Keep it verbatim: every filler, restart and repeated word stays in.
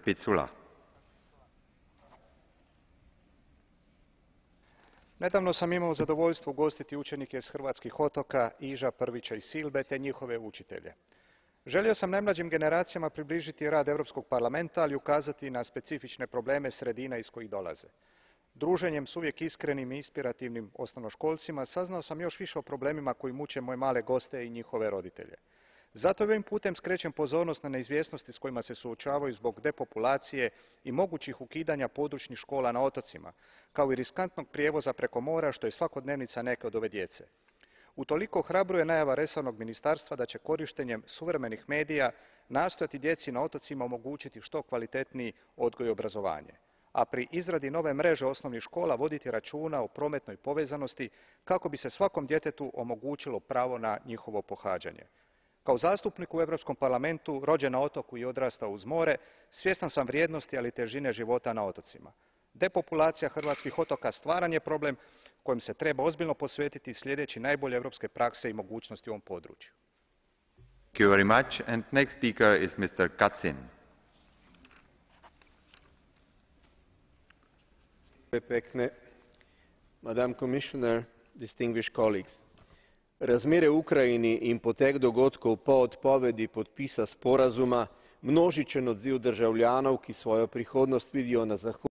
Picula. Nedavno sam imao zadovoljstvo ugostiti učenike s hrvatskih otoka Iža, Prvića i Silbe te njihove učitelje. Želio sam najmlađim generacijama približiti rad Europskog parlamenta, ali ukazati na specifične probleme sredina iz kojih dolaze. Druženjem s uvijek iskrenim i inspirativnim osnovnoškolcima saznao sam još više o problemima koji muče moje male goste i njihove roditelje. Zato ovim putem skrećem pozornost na neizvjesnosti s kojima se suočavaju zbog depopulacije i mogućih ukidanja područnih škola na otocima, kao i riskantnog prijevoza preko mora, što je svakodnevnica neke od ove djece. Utoliko ohrabruje najava resornog ministarstva da će korištenjem suvremenih medija nastojati djeci na otocima omogućiti što kvalitetniji odgoj i obrazovanje, a pri izradi nove mreže osnovnih škola voditi računa o prometnoj povezanosti kako bi se svakom djetetu omogućilo pravo na njihovo pohađanje. Kao zastupnik u Europskom parlamentu, rođen na otoku i odrastao uz more, svjestan sam vrijednosti, ali i težine života na otocima. Depopulacija hrvatskih otoka stvaran je problem kojem se treba ozbiljno posvetiti slijedeći najbolje europske prakse i mogućnosti u ovom području. Thank you very much. And next speaker is mister Kacin. Madam Commissioner, distinguished colleagues. Razmere v Ukrajini in potek dogodkov po odpovedi podpisa sporazuma, množičen odziv državljanov, ki svojo prihodnost vidijo na zahodu